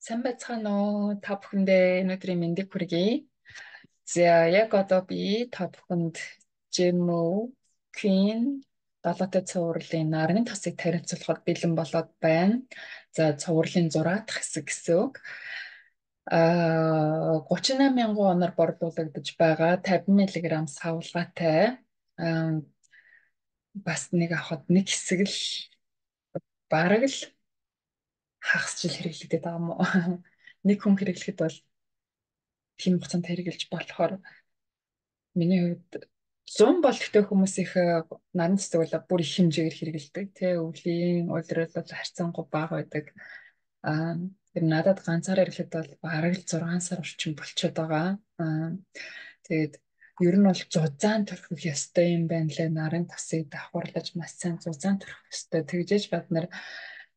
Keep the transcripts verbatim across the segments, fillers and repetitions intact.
Сайн байцгаана уу? Та бүхэндээ өнөөдрийн мэндийг хүргэе. За яг одоо би та бүхэнд Жимүү Queen далаатай цувралын нарны тосыг танилцуулахад бэлэн болоод байна. За цувралын зураг дахь хэсэг гэсэн үг. Аа гутрин восемь мянган оноор борлуулагдаж байгаа тавин миллиграмм савлгаатай аа, бас нэг авахад нэг хэсэг л бараг л хагас жил хэрэглэгдээд байгаа юм уу? Нэг хүн хэрэглэхэд бол тийм хугацаанд хэрэгжилж болохоор миний хувьд зун бол ихтэй хүмүүс их э, наран цэцэг бол бүр их хэмжээгээр хэрэгэлдэг тий өвлийн улирал бол харьцангуй бага байдаг. Аа тэр надад ганцаар ирэхэд бол бараг л зургаан сар орчим болчиход байгаа. Аа тэгээд ер нь бол зузаан төрөх ёстой юм байна лээ, нарын тосыг давхарлаж маш сайн зузаан төрөх ёстой. Тэгжээж бад нар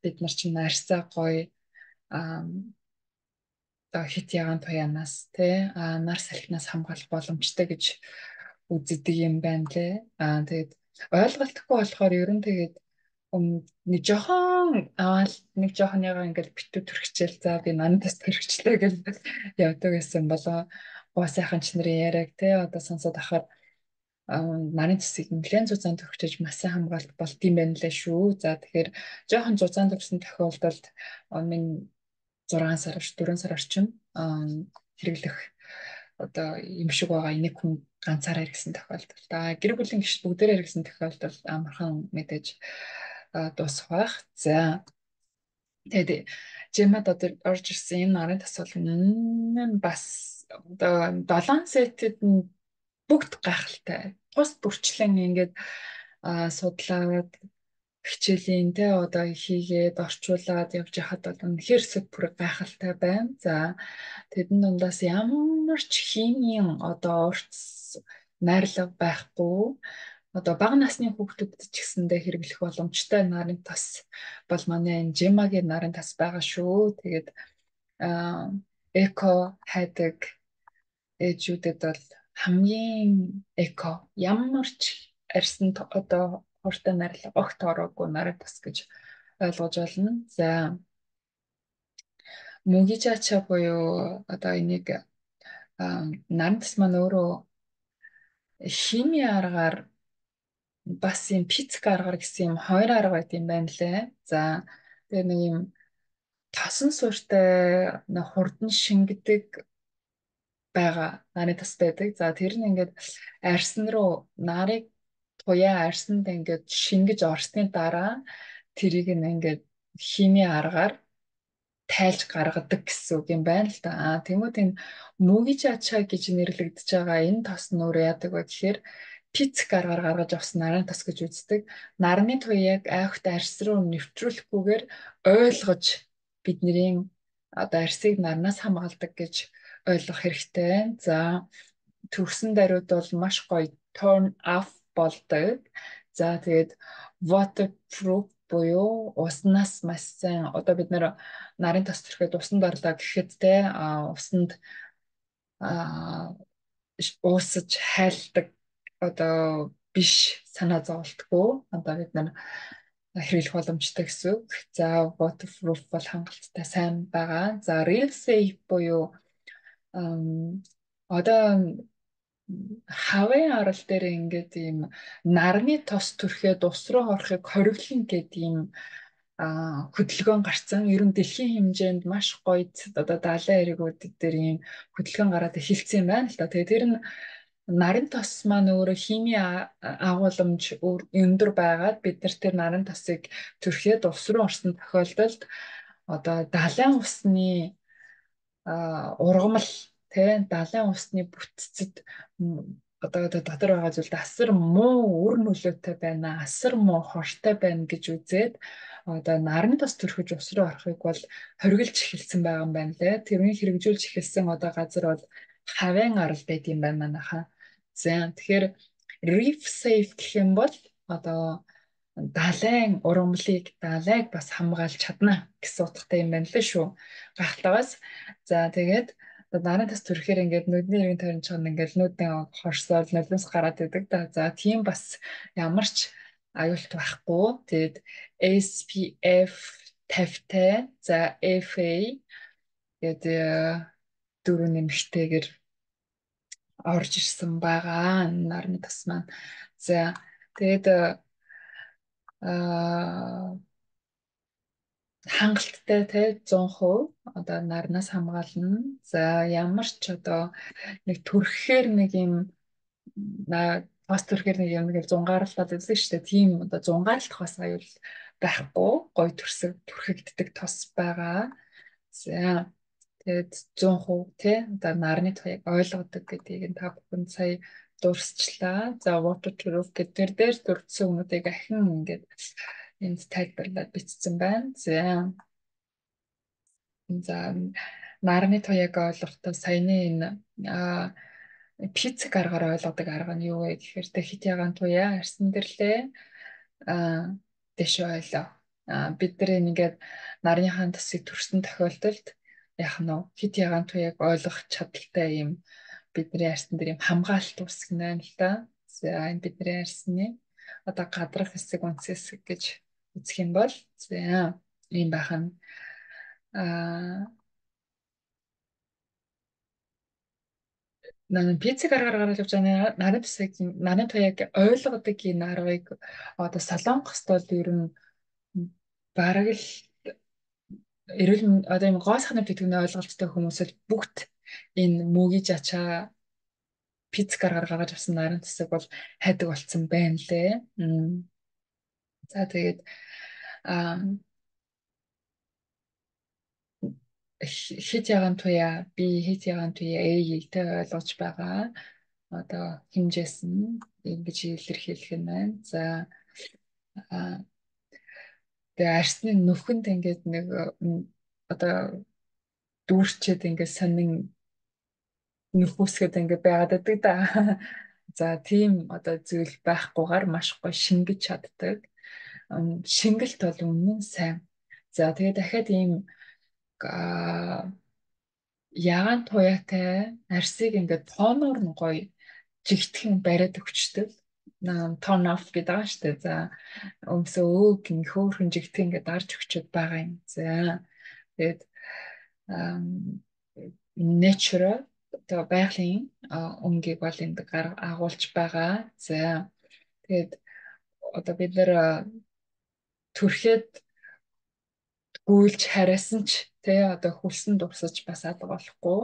бид нар чинь нарсаа гоё аа одоо хит ягаан туяанаас тий а нар салхинаас хамгаалах боломжтой гэж үздэг юм байна лээ. Аа тэгээд ойлголтгүй болохоор ер нь тэгээд ум- нэг жохон аваад нэг жохон ягаа ингээл битүү төрчихэл за би нандас төрчихлээ гэж явдаг гэсэн болоо гоо сайхан ч нарын яриаг тий одоо сонсоод ахаар нарын цэцгийг нэлээд зузаан төрчихөж маш сайн хамгаалт болт юм байна лээ шүү. За тэгэхээр жохон зузаан төрсөн тохиолдолд минь зургаан сар дөрвөн сар орчим аа, хэрэглэх одоо юм шиг байгаа нэг хүн ганцаараа иргэсэн тохиолдолд та гэр бүлийн гишүүд бүгдээрээ иргэсэн тохиолдолд амархан мэдээж аа, дуусах байх. За тэгээд жимэд одоо орж ирсэн энэ нарын тасвал нь бас одоо долоон сетэд нь бүгд гайхалтай. Тус бүрчлэн ингээд аа, судлаад хичээлийн те одоо хийгээд орчуулад явж хахад бол үнэхээр супер гайхалтай байна. За тэдэн дундаас ямар ч химийн одоо урт найрлага байхгүй. Одоо бага насны хүүхдүүдэд ч гэсэндээ хэрэглэх боломжтой нарын тас бол манай энэ Жимагийн нарын тас байгаа шүү. Тэгээд аа, эко хайдаг ээжүүдэд бол хамгийн эко ямар ч арьсан т- одоо хууртай найрлага огт ороогүй нарыг тас гэж ойлгож байна. За мөгижача буюу одоо энийг аа, наран тас маань өөрөө химийн аргаар бас юм физик аргаар гэсэн юм хоёр арга байт юм байна лээ. За тэгээ нэг юм тосон суурьтай нэг хурдан шингэдэг байгаа нарийн тас байдаг. За тэр нь ингээд арьсан руу нарыг туяа арьсанд ингээд шингэж орсны дараа тэрийг нь ингээд химийн аргаар тайлж гаргадаг гэсэн үг юм байна л да. Аа тэгмүүд энэ мөгиж ачаа гэж нэрлэгдэж байгаа энэ тос нь өөрөө яадаг вэ гэхээр пицк аргаар гаргаж авсан нарийн тос гэж үздэг. Нарны туяаг айхт арьс руу нэвтрүүлэхгүйгээр ойлгож бидний одоо арьсыг нарнаас хамгаалдаг гэж ойлгох хэрэгтэй. За төгсөн даруйд бол маш гоё turn off болдог. За тэгээд waterproof буюу уснаас маш сайн одоо бид нэр нарын тос төрхөд усанд орлоо гэхэд те а, усанд а, уусаж хайлтдаг одоо биш санаа зовлтгүй одоо бид нар хэрэглэх боломжтой гэсэн үг. За waterproof бол хангалттай сайн байгаа. За real safe буюу ам, одоо хавын арал дээр ингээд ийм нарны тос төрхөд ус руу орохыг хориглоно гэдэг ийм а, хөдөлгөөн гарцсан. Ер нь дэлхийн хэмжээнд маш гоё одоо далайн эргүүд дээр ийм хөдөлгөөн гараад эхэлсэн юм байна л да. Тэгээ тэр нь нарын тос маань өөрөө химийн а- агуулмж өөр- өндөр байгаад бид нар тэр нарын тосыг төрхөд ус руу орсон тохиолдолд одоо далайн усны а, ургамал тий далайн усны бүтцэд м, одоо одоо дотор байгаа зүйлд асар муу үр нөлөөтэй байна, асар муу хортой байна гэж үзээд одоо нарны тос төрхөж ус руу орохыг бол хориглож эхэлсэн байгаа юм байна лээ. Тэрний хэрэгжүүлж эхэлсэн одоо газар бол хавын арал байт юм байна манайхаа. За тэгэхээр reef safe гэх юм бол одоо далайн ургамлыг далайг бас хамгаалж чадна гэсэн утгатай юм байна лээ шүү. Гахалтагаас за тэгээд нарын тас төрөхээр ингээд нүдний иргэн тойрон чон ингээд нүдэн хорсоод нулимс гараад идэг да. За тийм бас ямар ч аюулт байхгүй. Тэгээд эс пи эф тавьтай, за эф эй Тэгээд э, дөрөв нэмэгтэйгэр орж ирсэн байгаа нарны тас маань. За тэгээд аа хангалттай те зуун хувь одоо нарнаас хамгаална. За ямар ч одоо нэг төрөхээр нэг юм на бас төрөхээр нэг юм нэг зунгаарлаад үзсэн шүү дээ. Тийм одоо зунгаарлах бас аюул байхгүй. Гой төрсөг түрхэгддэг тос байгаа. За тэгээд зуун хувь тий одоо нарны туяаг ойлгодог гэдгийг нь та бүхэн сая дурсчлаа. За waterproof гэдэг дээр дурдсан өмнөдийг ахин ингээд энд тайлбарлаад бичсэн байна. За за нарны туяаг ойлгохдоо саяны энэ а физик аргаар ойлгодог арга нь юу вэ гэхээр тэ хит ягаан туяа арсан дэрлээ а дэш ойлоо. А бид нар ингээд нарныхаа тасыг төрсөн тохиолдолд яах нь вэ? Хит ягаан туяаг ойлгох чадaltaй юм бидний арсан дээр юм хамгаалалт үүсгэнэ л да. За энэ бидний арсны одоо гадрах хэсэг үндэс хэсэг гэж үзэх юм бол за ийм байх нь а 나는 비치 гаргаар гаргаж явж байгаа нарийн тусыг нарийн туяаг ойлгодог энэ аргыг одоо солонгост бол ер нь бараг л эрүүл мэнд- одоо юм гоо сахны тэтгэврийн ойлголттой хүмүүсэл бүгд энэ мөгийн жачаа пиц гаргаар гаргаж авсан нарийн тусыг бол хайдаг болцсон байна лээ. М. За тэгээд а хит ягаан туяа би хит ягаан туяа ээжтэй ойлгож байгаа. Одоо хэмжээс нь ингэж илэрхийлэх юм байна. За а тэгээ арсны нүхэнд ингээд нэг м, одоо дүүрчээд ингээд сонин нөхөсгöd ингээд байгаад байдаг да. За тийм одоо зүйл байхгүйгээр маш гоё шингэж чаддаг. Ам, Шингэлт бол үнэн сайн. За тэгээ дахиад ийм а, ягаан туяатай арсыг ингээд тооноор нь гоё жигтгэн бариад өгчдөг. Turn off гэдэг байгаа шүү дээ. За өмсөө өг ин хөөхөн жигтгэн ингээд дарж өгчөд байгаа юм. За тэгээд ам, natural одоо байгалийн а, өнгийг бол энд гар агуулж байгаа. За тэгээд одоо бид нэр а, төрхөд гүйлж харасан ч тий одоо хөлсөн дурсаж бас алга болохгүй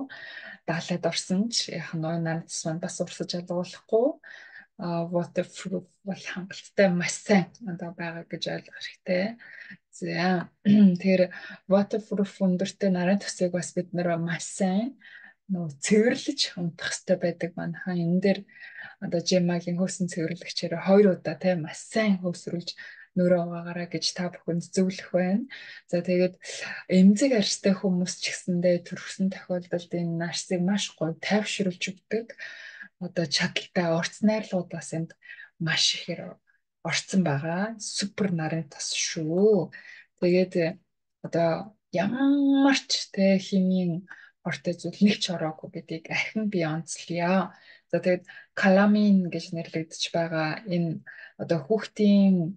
даалаад орсон ч яг нь нанадс маань бас урсаж алга болохгүй waterproof бол хангалттай маш сайн одоо байгаа гэж ойлгох хэрэгтэй. За тэгэхээр waterproof өндөртэй нарын тусыг бас бид нэр маш сайн нөө цэвэрлэж унтах хэрэгтэй байдаг манайхаа энэ дээр одоо жимагийн хөөсөн цэвэрлэгчээр хоёр удаа тийм маш сайн хөөсрүүлж нөрөө угаагаараа гэж та бүхэнд зөвлөх байна. За тэгээд эмзэг арьстай хүмүүс ч гэсэндээ төрсөн тохиолдолд энэ арсыг маш гоё тайвшруулж өгдөг. Одоо чадaltaй орц найрлууд бас энд маш ихээр орцсон байгаа. Супер нарын тас шүү. Тэгээд одоо ямар ч те химийн ортой зүйл нэг ч ороогүй гэдгийг ахин би онцлъё. За тэгээд каламин гэж нэрлэгдэж байгаа энэ одоо хүүхдийн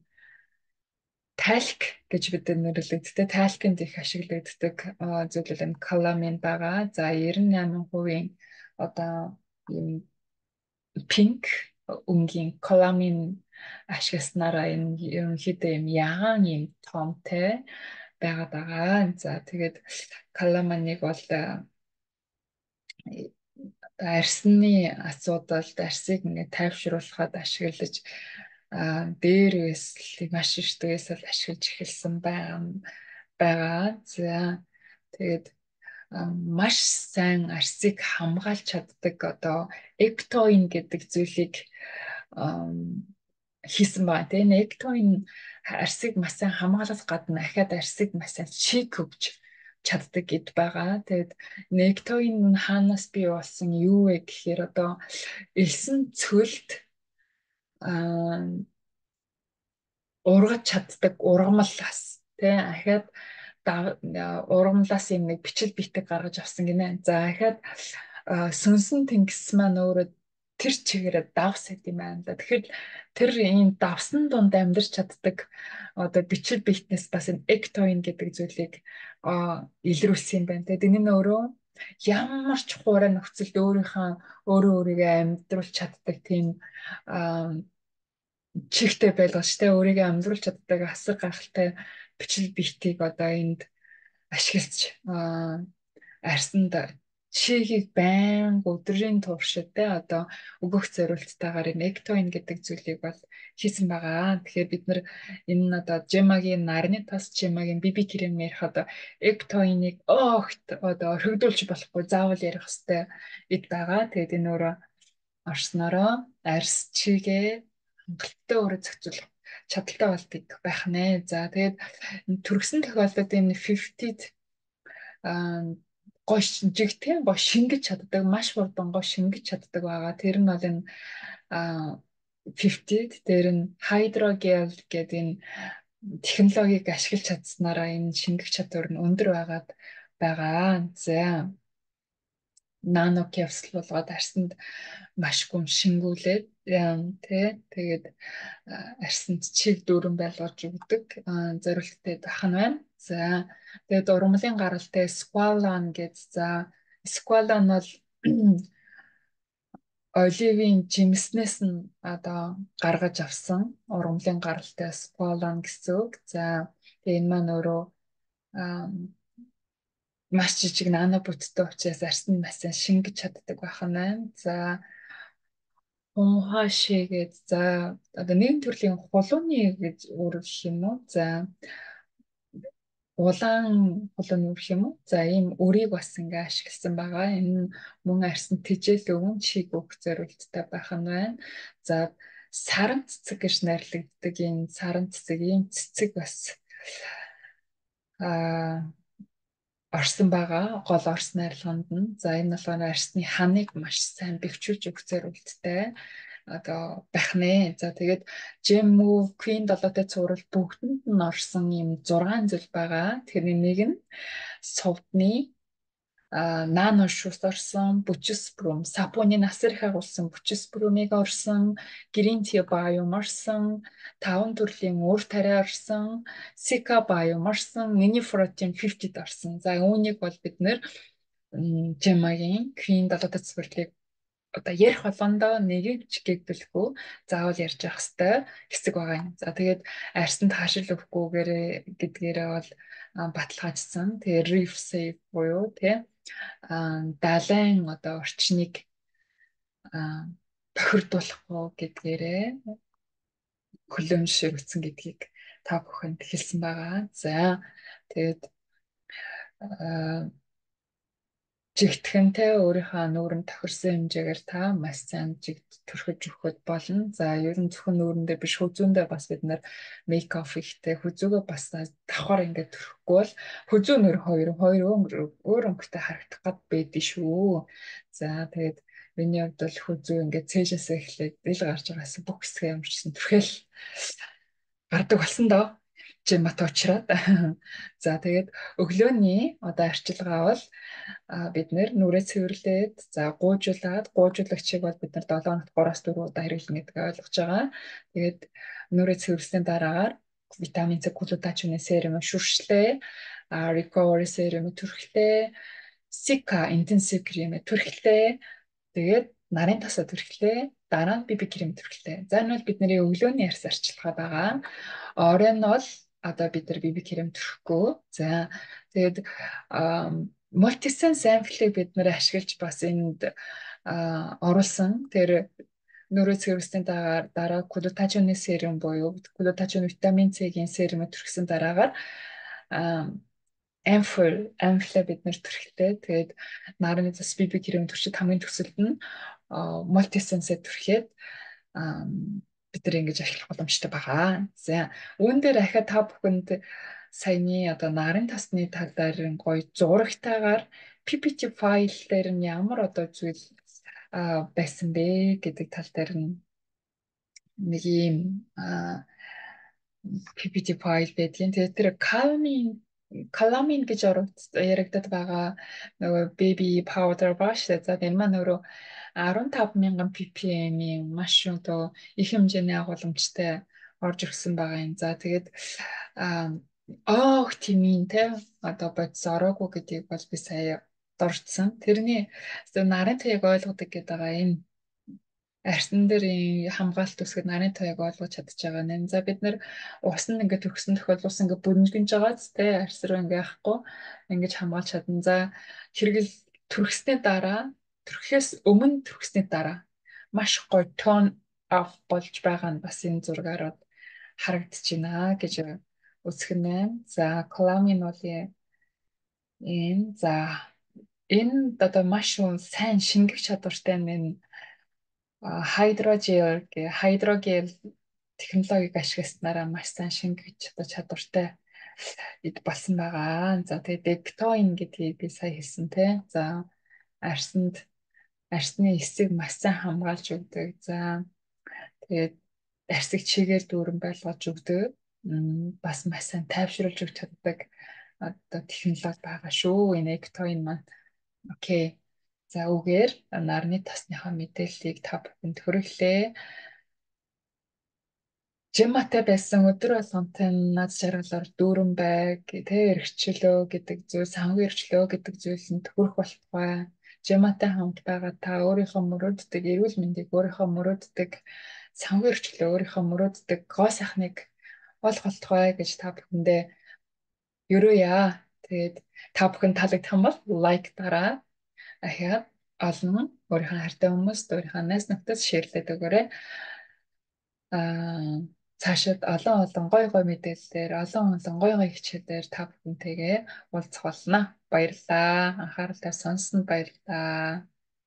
тальк гэж бид нэрлэгддэг. Талькэнд их ашиглагддаг зүйл нь каламин байгаа. За девяносто восемь хувийн одоо юм пинк өнгийн каламин ашигласнараа энэ ерөнхийдөө юм ягаан юм томтой байгаад байгаа. За тэгээд каламаныг бол арсны асуудалд арсыг ингээд тайвшруулахад ашиглаж дээрээс маш их дээрээс л ашиглаж эхэлсэн байгаа байгаа. За тэгээд маш сайн арсыг хамгаалж чаддаг одоо эктоин гэдэг зүйлийг хийсэн байна. Тэгээ эктоин арсыг маш сайн хамгаалах гадна ахаад арсыг маш сайн шийк өгч чаддаг гэд байгаа. Тэгээд нектоин хаанаас бий болсон юу вэ гэхээр одоо элсэн цөлд аа ургаж чаддаг ургамлаас тий ахаад ургамлаас юм нэг бичил битэг гаргаж авсан гинэ. За ахаад сүнсэн тэнгис маань өөрөө тэр чигээрээ давс гэдэг юм байна да. Тэгэхээр тэр ийм давсан дунд амьдарч чаддаг одоо бичил биетнес бас энэ эктоин гэдэг зүйлийг а илрүүлсэн юм байна. Тэгээд энэ нь өөрөө ямар ч хуурай нөхцөлд өөрийнхөө өөрөө өөрийгөө амьдруулж чаддаг тийм чигтэй байлгаж тэ өөрийгөө амьдруулж чаддаг асар гайхалтай бичил биетийг одоо энд ашиглаж арьсанд чигийг байнга өдрийн туршид те одоо өгөх зорилттайгаар энэ эктоин гэдэг зүйлийг бол хийсэн байгаа. Тэгэхээр бид нар энэ нь одоо жемагийн нарны тас жемагийн биби крем ярих одоо эктоиныг огт одоо орхигдуулж болохгүй заавал ярих хэрэгтэй эд байгаа. Тэгээд энэ өөрөө орсноороо арьс чигээ хангалттай өөрөө зохицуулах чадaltaй болдог байх нэ. За тэгээд төрөгсөн тохиолдолд энэ пятьдесят аа гой жигтэй гой шингэж чаддаг маш хурдан гой шингэж чаддаг байгаа. Тэр нь бол энэ пятьдесят дээр нь хайдрогел гэдэг энэ технологиг ашиглаж чадсанараа энэ шингэх чадвар нь өндөр байгаад байгаа. За нано капсул болгоод арьсанд маш гүн шингүүлээд тий тэгээд арьсанд чиг дүүрэн байлгаж өгдөг зорилттой байх нь байна. За тэгээд ургамлын гаралтай сквалан гэж за сквалан бол оливын жимснээс нь одоо гаргаж авсан ургамлын гаралтай сквалан гэсэн үг. За тэгээд энэ маань өөрөө маш жижиг нано бүтцтэй учраас арьсанд маш сайн шингэж чаддаг байх нь байна. За хонхашигээд за одоо нэгэн төрлийн хулууны гэж өөрөөр юм уу? За улаан хулууны үрх юм уу? За ийм өрийг бас ингээ ашигласан байгаа. Энэ мөн арьсанд тэжээл өвөн чиг өгөх зорилттой байх нь байна. За саран цэцэг гэж нэрлэгддэг энэ саран цэцэг ийм цэцэг бас аа орсон байгаа. Гол орс найрлаганд нь. За энэ болохоор арьсны ханыг маш сайн бэхжүүлж өгөх зорилттой одоо байх нэ. За тэгээд Gem Move Queen долоотой цуврал бүгдэнд нь орсон юм зургаан зүйл байгаа. Тэгэхээр нэг нь сувдны нано шус орсон, бүчис брум, сапуны насар их агуулсан бүчис брумыг орсон, green tea biome орсон, таван төрлийн уур тариа орсон, sika biome орсон, mini protein пятьдесят орсон. За үүнийг бол бид нэр Gem-ийн Queen долоотой цувралыг одоо ярих болгондоо нэгийг ч гэгдүүлэхгүй заавал ярьж явах хэрэгтэй хэсэг байгаа юм. За тэгээд арьсанд хаашил өгөхгүйгээр гэдгээрээ бол баталгаажсан. Тэгээд reef safe буюу тий далайн одоо орчныг тохирдуулахгүй гэдгээрээ хөлөөншөөрөгдсөн гэдгийг та бүхэнд хэлсэн байгаа. За тэгээд жигтгэнтэй өөрийнхөө нүүрэн тохирсон хэмжээгээр та маш сайн жигт төрхөж өгөхөд болно. За ер нь зөвхөн нүүрэндээ биш хүзүүндээ бас бид нар мейк оф ихтэй хүзүүгээ бас давхар ингээд төрөхгүй бол хүзүү нөр хоёр хоёр өөр өнгөтэй харагдах гад байдгийн шүү. За тэгээд миний хувьд бол хүзүү ингээд цээжээс эхлээд ил гарч байгаас бүх хэсгээ ямарчсан түрхэл гардаг болсон доо. Жимат уучраад. За тэгээд өглөөний одоо арчилгаа бол бид нэр нүрээ цэвэрлээд за гуйжуулаад гуйжуулагчийг бол бид нар долоо хоногт гураас дөрөв удаа хэрэглэнэ гэдэг ойлгож байгаа. Тэгээд нүрээ цэвэрлсэний дараагаар витамин С глутатионы серум шүршлээ, recovery serum түрхлээ, Sika intensive крем түрхлээ. Тэгээд нарын тасаа түрхлээ, дараа нь биби крем түрхлээ. За энэ бол бидний өглөөний арьс арчилгаа байгаа. Оройн нь бол одоо бид нар биби крем түрхэхгүй. За тэгээд мультисенс амфлыг бид нэр ашиглаж бас энд оруулсан. Тэр нүрээ цэвэрлсэний дараа дараа глутатионы серум буюу глутатион витамин С-ийн серум түрхсэн дараагаар амфл амфла бид нэр түрхлээ. Тэгээд нарны цас биби крем түрчид хамгийн төсөлд нь мультисенсээ түрхээд бид нар ингэж ашиглах боломжтой байгаа. За үүн дээр ахаа та бүхэнд саяны одоо нарын тасны тал дээр гоё зурагтайгаар пи пи ти файл дээр нь ямар одоо зүйл байсан бэ гэдэг тал дээр нь нэг юм пи пи ти файл байдгийн. Тэгээд тэр calming Calamine гэж орогд- яригдаад байгаа нөгөө baby powder ба шүү дээ. За энэ маань өөрөө арван тав мянган ppm-ийн маш одоо их хэмжээний агуулмжтай орж ирсэн байгаа юм. За тэгээд аа оох тимийн те одоо бодис ороогүй гэдгийг бол би сая дурдсан. Тэрний зөв нарын туяаг ойлгодог гэдэг байгаа энэ арьсан дээр ийм хамгаалалт үсгэд нарын туяаг ойлгож чадчих байгаа нэ. За бид нэр ус нь ингээд төгсөн тохиолдол ус ингээд бөднжгөнж байгаа ч те арьс руу ингээд яахгүй ингэж хамгаалж чадна. За хэрэгэл түрхсний дараа түрхээс өмнө түрхсний дараа маш гоё тон ав болж байгаа нь бас энэ зургаар харагдчихна гэж үзэх нь байна. За коламин бол энэ за энэ одоо маш сайн шингэх чадвартай энэ хайдрогел гэ хайдрогел технологиг ашигласнараа маш сайн шингэж чадах чадвартай эд болсон байгаа. За тэгээд Dectoin гэдгийг би сая хэлсэн те. За арьсанд арьсны эсийг маш сайн хамгаалж өгдөг. За тэгээд арьсыг чигээр дүүрэн байлгаж өгдөг. Бас маш сайн тайвшруулж өгч чаддаг одоо технологи байгаа шүү. Энэ Dectoin маань. Окей. За үгээр нарны тосныхоо мэдээллийг та бүхэнд хүргэлээ. Жиматай байсан өдөр болгонтой над жаргалаар дүүрэн байг, тэ эргчлөө гэдэг зүйл, санхүү эргчлөө гэдэг зүйлсэнд хүрэх болтугай. Жиматай хамт байгаа та өөрийнхөө мөрөөддөг эрүүл мэндийг өөрийнхөө мөрөөддөг санхүү эргчлөө өөрийнхөө мөрөөддөг гоо сайхныг олох болтугай гэж та бүхэндээ ерөөя. Тэгээд та бүхэн таалагдсан бол лайк дараа. Ахиад олон өөрийнхөө хайртай хүмүүст, өөрийнхөө найз нөхдөд шеэрлээд өгөөрэй. Аа цаашид олон олон гой гой мэдээллээр, олон олон гой гой хичээлээр та бүхэнтэйгээ уулзах болно. Баярлалаа. Анхаарал тавьсан сонсонд баярлалаа.